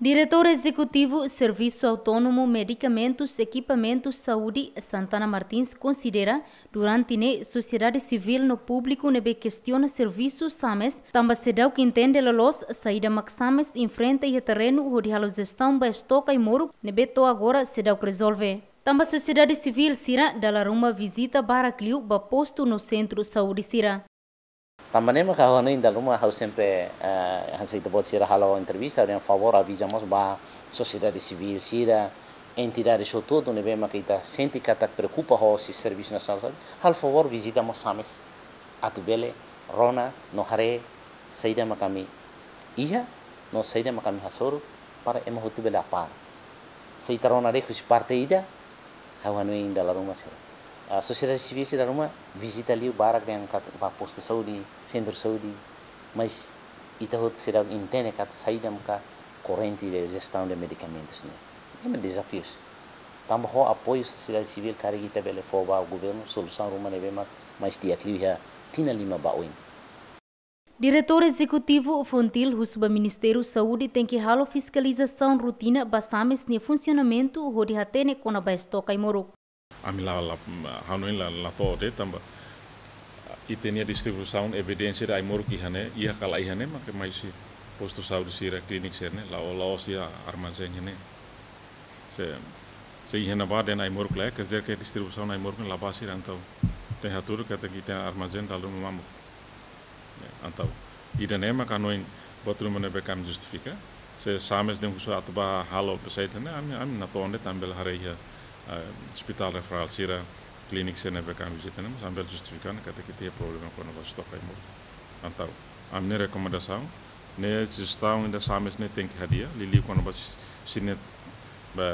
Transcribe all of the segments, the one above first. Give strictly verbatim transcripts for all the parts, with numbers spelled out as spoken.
Diretór Ezekutivu Servisu Autónomu Medikamentus Ekipamentus Saúde, Santana Martins, konsidera durante ne'e sosiedade sivíl no públiku ne'ebé kestiona servisu SAMES, tanba seidauk entende loloos saida mak SAMES enfrenta iha terrenu hodi halo jestaun ba estoke ai-moruk ne'ebé to'o agora seidauk rezolve. Tanba sosiedade sivíl sira dala ruma vizita barak liu ba postu no sentru saúde sira. Tanba ne'e mak ha'u hanoin dala ruma ha'u sempre, eh, hanesan ita-boot sira halo entrevista, ha'u dehan favór aviza mós ba sosiedade sivíl sira, entidade hotu-hotu ne'ebé mak ita sente katak preokupa ho husi Servisu Nasionál Saúde, halo favór vizita mós SAMES, atu bele rona no haree saida mak ami iha, no saida mak ami hasoru, para ema hotu bele a par. Se ita rona de'it husi parte ida, ha'u hanoin dala ruma sira. Ah, sosiedade sivíl sira dala ruma vizita liu barak dehan katak ba postu saúde, sentru saúde, mas ita hotu seidauk entende katak saida maka korrente de jestaun de medikamentus ne'e. Ne'e mak dezafiu. Tanba ho apoiu sosiedade sivíl karik ita bele fó ba governu solusaun ruma ne'ebé mak mais di'ak liu iha tinan lima ba oin. Diretór Ezekutivu FONGIL husu ba Ministériu Saúde tenke halo fiskalizasaun rotina ba SAMES nia funsionamentu hodi hatene kona-ba estoke ai-moruk. Ami la, la, hanoin la, la to'o de'it tanba ita-nia distribuisaun evidénsia de ai-moruk iha ne'e, iha ka la iha ne'e, maka mai husi postu saúde sira, klínika sira-ne'e, la'o, la'ós iha armazén iha ne'e. Se, se iha ne'ebá dehan ai-moruk la iha, quer dizer que distribuisaun ai-moruk ne'e la ba sira entaun. Tenke hatudu katak ita-nia armazén dala ruma mamuk. Ya, entaun ida-ne'e mak hanoin buat ruma ne'ebé ke ami justifika. Se SAMES dehan husu atu ba halo pesquisa ne'e, ami, ami natoon de'it, ami bele haree iha, eh, ospitál referál sira, klínika sira ne'ebé ke ami vizita ne'e, mas ami bele justifika ona katak ita iha problema kona-ba estoke ai-moruk. Entaun ami-nia rekomendasaun, ne'e jestaun ida SAMES ne'e tenke hadi'a, liuliu kona-ba si-, sira-ne'e, ba,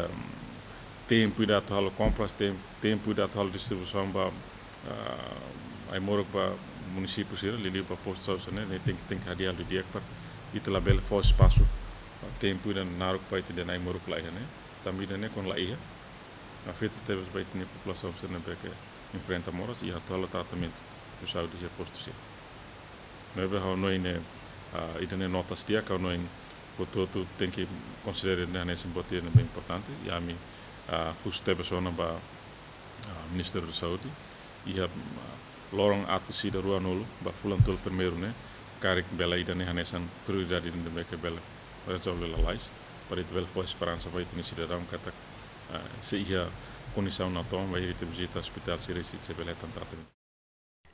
tempu ida atu halo kompras, tem-, tempu ida atu halo distribuisaun ba, ah, ai-moruk ba munisípiu sira, liuliu ba postu saúde sira-ne'e, ne'e tenke, tenke hadi'a didi'ak para ita labele fó espasu, ah, tempu ida naruk ba ita dehan ai-moruk la iha ne'e. Tanba ida-ne'e kuandu la iha, afeta tebes ba ita-nia populasaun sira ne'ebé ke enfrenta moras i atu halo tratamentu saúde iha postu sira. Ne'ebé ha'u hanoin ne'e, ah, ida-ne'e notas di'ak, ha'u hanoin hotu-hotu tenke konsidera ne'e hanesan buat ida ne'ebé importante, i ami, ah, husu tebes ona ba, ah, Ministériu Saúde, iha, ah, loron atus ida ruanulu, ba fulan tolu primeiru ne'e, karik bele ida-ne'e hanesan prioridade ida ne'ebé ke bele rezolve lalais, para ita bele fó esperansa ba ita-nia sidadaun katak, ah, se iha kondisaun natoon, bainhira ita vizita ospitál sira, sei, sei bele hetan tratamentu.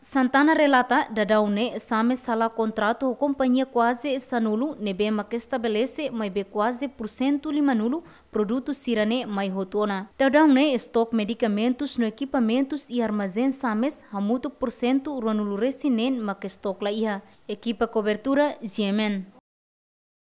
Santana relata, daudaun ne'e SAMES hala'o kontratu ho kompañia kuaze sanulu ne'ebé mak estabelese maibé kuaze pursentu limanulu produtu sira-ne'e mai hotu ona. Daudaun ne'e estoke medikamentus no ekipamentus iha armazén SAMES hamutuk pursentu ruanulu-resin-neen mak estoke la iha. Ekipa kobertura, G M N.